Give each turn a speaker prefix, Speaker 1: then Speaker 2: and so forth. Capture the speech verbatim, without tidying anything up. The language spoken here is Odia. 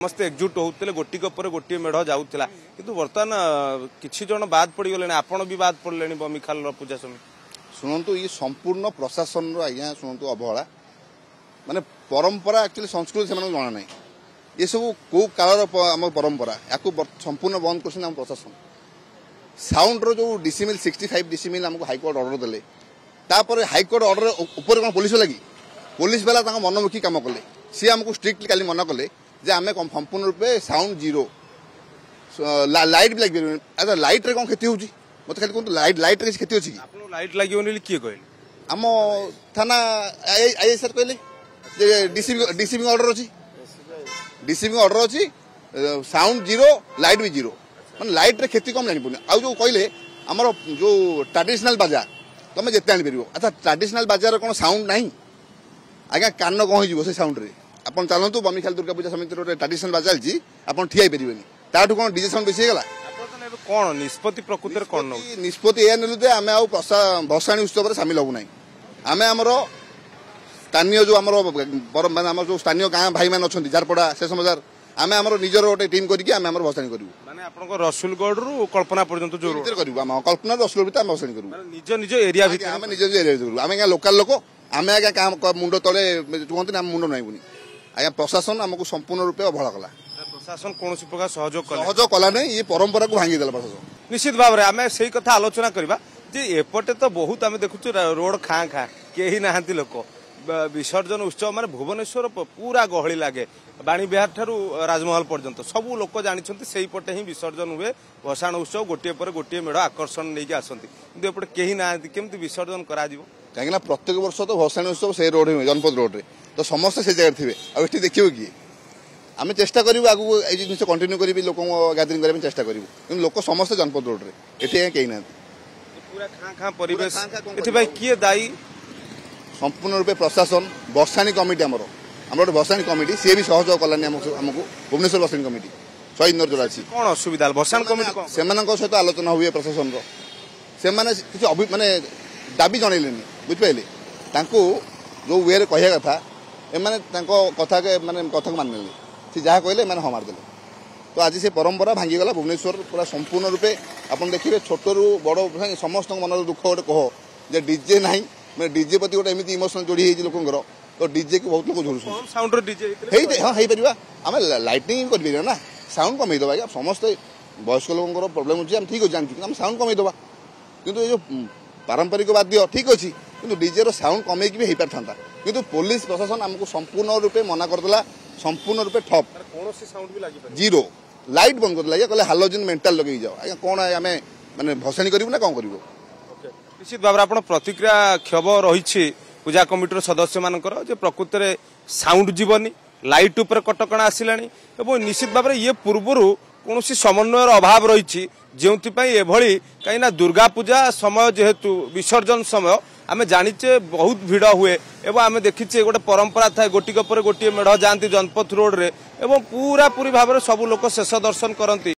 Speaker 1: ସମସ୍ତେ ଏକଜୁଟ ହଉଥିଲେ, ଗୋଟିକ ପରେ ଗୋଟିଏ ମେଢ ଯାଉଥିଲା। କିନ୍ତୁ ବର୍ତ୍ତମାନ କିଛି ଜଣ ବାଦ ପଡ଼ିଗଲେଣି, ଆପଣ ବି ବାଦ ପଡ଼ିଲେଣି ବମିଖାଲର ପୂଜା ସମିତି।
Speaker 2: ଶୁଣନ୍ତୁ, ଇଏ ସମ୍ପୂର୍ଣ୍ଣ ପ୍ରଶାସନର ଆଜ୍ଞା ଶୁଣନ୍ତୁ ଅବହେଳା। ମାନେ ପରମ୍ପରା ଆକ୍ଚୁଆଲି ସଂସ୍କୃତି ସେମାନଙ୍କୁ ଜଣା ନାହିଁ। ଏସବୁ କେଉଁ କାଳର ଆମ ପରମ୍ପରା, ୟାକୁ ସମ୍ପୂର୍ଣ୍ଣ ବନ୍ଦ କରୁଛନ୍ତି ଆମ ପ୍ରଶାସନ। ସାଉଣ୍ଡର ଯେଉଁ ଡିସିମିଲ୍ ସିକ୍ସଟି ଫାଇଭ୍ ଡିସିମିଲ୍ ଆମକୁ ହାଇକୋର୍ଟ ଅର୍ଡର ଦେଲେ, ତାପରେ ହାଇକୋର୍ଟ ଅର୍ଡର ଉପରେ କ'ଣ ପୋଲିସ ଲାଗି ପୋଲିସ ବାଲା ତାଙ୍କ ମନମୁଖୀ କାମ କଲେ। ସିଏ ଆମକୁ ଷ୍ଟ୍ରିକ୍ଟଲି କାଲି ମନା କଲେ ଯେ ଆମେ ସମ୍ପୂର୍ଣ୍ଣ ରୂପେ ସାଉଣ୍ଡ ଜିରୋ, ଲାଇଟ୍ ବି ଲାଗିପାରିବନି। ଆଚ୍ଛା, ଲାଇଟ୍ରେ କ'ଣ କ୍ଷତି ହେଉଛି ମୋତେ ଖାଲି କୁହନ୍ତୁ? ଲାଇଟ୍ ଲାଇଟ୍ରେ କିଛି କ୍ଷତି ଅଛି କି?
Speaker 1: ଆପଣଙ୍କୁ ଲାଇଟ୍ ଲାଗିବନି ବୋଲି କିଏ କହିଲେ?
Speaker 2: ଆମ ଥାନା I sir କହିଲେ ଯେ ଡିସିପି ଡିସିପି ଅର୍ଡର ଅଛି, ଡିସିପି ଅର୍ଡର ଅଛି, ସାଉଣ୍ଡ ଜିରୋ, ଲାଇଟ୍ ବି ଜିରୋ। ମାନେ ଲାଇଟ୍ରେ କ୍ଷତି କମ୍ ଜାଣିପାରୁନି। ଆଉ ଯେଉଁ କହିଲେ ଆମର ଯେଉଁ ଟ୍ରାଡିସନାଲ ବାଜା ତମେ ଯେତେ ଆଣିପାରିବ। ଆଚ୍ଛା, ଟ୍ରାଡିସନାଲ ବାଜାର କ'ଣ ସାଉଣ୍ଡ ନାହିଁ ଆଜ୍ଞା? କାନ କ'ଣ ହେଇଯିବ ସେ ସାଉଣ୍ଡରେ। ଆପଣ ଚାଲନ୍ତୁ, ବମିଖାଲ ଦୁର୍ଗା ପୂଜା ସମିତିର ଗୋଟେ ଟ୍ରାଡିସନାଲ ବାଜା ଚାଲିଛି, ଆପଣ ଠିଆ ହେଇପାରିବେନି। ତାଠୁ କ'ଣ ଡିଜେ ସାଉଣ୍ଡ ବେଶୀ ହେଇଗଲା?
Speaker 1: କ'ଣ ନିଷ୍ପତ୍ତି ପ୍ରକୃତରେ କ'ଣ
Speaker 2: ନିଷ୍ପତ୍ତି ଏହା ନେଲୁ ଯେ ଆମେ ଆଉ ଭସାଣି ଉତ୍ସବରେ ସାମିଲ ହବୁ ନାହିଁ। ଆମେ ଆମର ସ୍ଥାନୀୟ ଯେଉଁ ଆମର ମାନେ ଆମର ଯେଉଁ ସ୍ଥାନୀୟ ଗାଁ ଭାଇମାନେ ଅଛନ୍ତି, ଝାରପଡ଼ା, ଶେଷ ବଜାର, ଆମେ ଆମର ନିଜର ଗୋଟେ ଟିମ୍ କରିକି ଆମେ ଆମର ଭସାଣି କରିବୁ।
Speaker 1: ମାନେ ଆପଣଙ୍କ ରସୁଲଗଡ଼ରୁ କଳ୍ପନା ପର୍ଯ୍ୟନ୍ତ ଯୋଉ
Speaker 2: ଭିତରେ କରିବୁ, ଆମ କଳ୍ପନା ରସୁଲଗଡ଼ ଭିତରେ ଆମେ ଭସାଣି କରିବୁ।
Speaker 1: ନିଜ ନିଜ ଏରିଆ ଭିତରେ
Speaker 2: ଆମେ ନିଜ ନିଜ ଏରିଆ ଭିତରେ କରିବୁ। ଆମେ ଆଜ୍ଞା ଲୋକାଲ ଲୋକ, ଆମେ ଆଜ୍ଞା କାହା ମୁଣ୍ଡ ତଳେ କୁହନ୍ତିନି, ଆମେ ମୁଣ୍ଡ ନଇବୁନି ଆଜ୍ଞା। ପ୍ରଶାସନ ଆମକୁ ସମ୍ପୂର୍ଣ୍ଣ ରୂପେ ଅବହେଳା କଲା।
Speaker 1: ପ୍ରଶାସନ କୌଣସି ପ୍ରକାର ସହଯୋଗ
Speaker 2: ସହଯୋଗ କଲା ନାହିଁ, ଇଏ ପରମ୍ପରାକୁ ଭାଙ୍ଗିଦେଲା ପ୍ରଶାସନ।
Speaker 1: ନିଶ୍ଚିତ ଭାବରେ ଆମେ ସେଇ କଥା ଆଲୋଚନା କରିବା ଯେ ଏପଟେ ତ ବହୁତ ଆମେ ଦେଖୁଛୁ ରୋଡ ଖାଁ ଖାଁ, କେହି ନାହାନ୍ତି ଲୋକ। ବିସର୍ଜନ ଉତ୍ସବ ମାନେ ଭୁବନେଶ୍ୱର ପୁରା ଗହଳି ଲାଗେ, ବାଣୀବିହାର ଠାରୁ ରାଜମହଲ ପର୍ଯ୍ୟନ୍ତ ସବୁ ଲୋକ ଜାଣିଛନ୍ତି ସେଇପଟେ ହିଁ ବିସର୍ଜନ ହୁଏ। ଭସାଣ ଉତ୍ସବ ଗୋଟିଏ ପରେ ଗୋଟିଏ ମେଢ଼ ଆକର୍ଷଣ ନେଇକି ଆସନ୍ତି, କିନ୍ତୁ ଏପଟେ କେହି ନାହାନ୍ତି, କେମିତି ବିସର୍ଜନ କରାଯିବ?
Speaker 2: କାହିଁକିନା ପ୍ରତ୍ୟେକ ବର୍ଷ ତ ଭସାଣି ଉତ୍ସବ ସେଇ ରୋଡ ହୁଏ, ଜନପଥ ରୋଡରେ, ତ ସମସ୍ତେ ସେ ଜାଗାରେ ଥିବେ, ଆଉ ଏଠି ଦେଖିବ କିଏ? ଆମେ ଚେଷ୍ଟା କରିବୁ ଆଗକୁ ଏଇ ଜିନିଷ କଣ୍ଟିନ୍ୟୁ କରିବି, ଲୋକଙ୍କ ଗ୍ୟାଦରିଂ କରିବା ପାଇଁ ଚେଷ୍ଟା କରିବୁ, କିନ୍ତୁ ଲୋକ ସମସ୍ତେ ଜନପଥ ରୋଡରେ, ଏଠି ଆଜ୍ଞା କେହି ନାହାନ୍ତି,
Speaker 1: ପୁରା ଖାଁ ଖାଁ ପରିବେଶ। ଏଥିପାଇଁ କିଏ ଦାୟୀ?
Speaker 2: ସମ୍ପୂର୍ଣ୍ଣ ରୂପେ ପ୍ରଶାସନ, ଭସାଣି କମିଟି, ଆମର ଆମର ଗୋଟେ ଭସାଣି କମିଟି, ସିଏ ବି ସହଯୋଗ କଲାନି ଆମକୁ। ଆମକୁ ଭୁବନେଶ୍ୱର ଭସାଣି କମିଟି ଶହୀଦ ନଗର ଯୋଉଟା ଅଛି,
Speaker 1: କ'ଣ ଅସୁବିଧା ଭସାଣି କମିଟି?
Speaker 2: ସେମାନଙ୍କ ସହିତ ଆଲୋଚନା ହୁଏ ପ୍ରଶାସନର, ସେମାନେ କିଛି ଅଭି ମାନେ ଦାବି ଜଣେଇଲେନି, ବୁଝିପାରିଲେ? ତାଙ୍କୁ ଯୋଉ ୱେରେ କହିବା କଥା, ଏମାନେ ତାଙ୍କ କଥା ମାନେ କଥାକୁ ମାନିନେଲେ। ସେ ଯାହା କହିଲେ ଏମାନେ ହଁ ମାରିଦେଲେ। ତ ଆଜି ସେ ପରମ୍ପରା ଭାଙ୍ଗିଗଲା ଭୁବନେଶ୍ୱର ପୁରା ସମ୍ପୂର୍ଣ୍ଣ ରୂପେ। ଆପଣ ଦେଖିବେ ଛୋଟରୁ ବଡ଼ ସମସ୍ତଙ୍କ ମନରେ ଦୁଃଖ ଗୋଟେ କହ ଯେ ଡିଜେ ନାହିଁ। ମାନେ ଡିଜେ ପ୍ରତି ଗୋଟେ ଏମିତି ଇମୋସନ ଯୋଡ଼ି ହେଇଛି ଲୋକଙ୍କର, ତ ଡିଜେକୁ ବହୁତ ଲୋକ ଝୁରୁଛନ୍ତି।
Speaker 1: ସାଉଣ୍ଡର ଡିଜେ
Speaker 2: ହେଇ ହଁ ହେଇପାରିବା, ଆମେ ଲାଇଟିଂ କରିପାରିବା ନା, ସାଉଣ୍ଡ କମେଇଦେବା ଆଜ୍ଞା। ସମସ୍ତେ ବୟସ୍କ ଲୋକଙ୍କର ପ୍ରୋବ୍ଲେମ୍ ଅଛି, ଆମେ ଠିକ୍ ଅଛି ଜାଣିଛୁ, କିନ୍ତୁ ଆମେ ସାଉଣ୍ଡ କମେଇଦେବା। କିନ୍ତୁ ଏ ଯେଉଁ ପାରମ୍ପରିକ ବାଦ୍ୟ ଠିକ୍ ଅଛି, କିନ୍ତୁ ଡିଜେର ସାଉଣ୍ଡ କମେଇକି ବି ହେଇପାରିଥାନ୍ତା। କିନ୍ତୁ ପୋଲିସ ପ୍ରଶାସନ ଆମକୁ ସମ୍ପୂର୍ଣ୍ଣ ରୂପେ ମନା କରିଦେଲା, ସମ୍ପୂର୍ଣ୍ଣ ରୂପେ ଠପ୍,
Speaker 1: କୌଣସି ସାଉଣ୍ଡ ବି ଲାଗିପାରିବ,
Speaker 2: ଜିରୋ ଲାଇଟ୍ ବନ୍ଦ କରିଦେଲା ଆଜ୍ଞା। କହିଲେ ହାଲୋଜିନ୍ ମେଣ୍ଟାଲ ଲଗେଇକି ଯାଅ। ଆଜ୍ଞା କ'ଣ ଆମେ ମାନେ ଭସାଣି କରିବୁ ନା କ'ଣ କରିବୁ?
Speaker 1: ନିଶ୍ଚିତ ଭାବରେ ଆପଣ ପ୍ରତିକ୍ରିୟା କ୍ଷୋଭ ରହିଛି ପୂଜା କମିଟିର ସଦସ୍ୟମାନଙ୍କର ଯେ ପ୍ରକୃତରେ ସାଉଣ୍ଡ ଯିବନି, ଲାଇଟ୍ ଉପରେ କଟକଣା ଆସିଲାଣି, ଏବଂ ନିଶ୍ଚିତ ଭାବରେ ଇଏ ପୂର୍ବରୁ କୌଣସି ସମନ୍ୱୟର ଅଭାବ ରହିଛି ଯେଉଁଥିପାଇଁ ଏଭଳି। କାହିଁକିନା ଦୁର୍ଗା ପୂଜା ସମୟ ଯେହେତୁ ବିସର୍ଜନ ସମୟ ଆମେ ଜାଣିଛେ ବହୁତ ଭିଡ଼ ହୁଏ, ଏବଂ ଆମେ ଦେଖିଛେ ଗୋଟେ ପରମ୍ପରା ଥାଏ, ଗୋଟିକ ପରେ ଗୋଟିଏ ମେଢ଼ ଯାଆନ୍ତି ଜନପଥ ରୋଡରେ ଏବଂ ପୁରାପୁରି ଭାବରେ ସବୁ ଲୋକ ଶେଷ ଦର୍ଶନ କରନ୍ତି।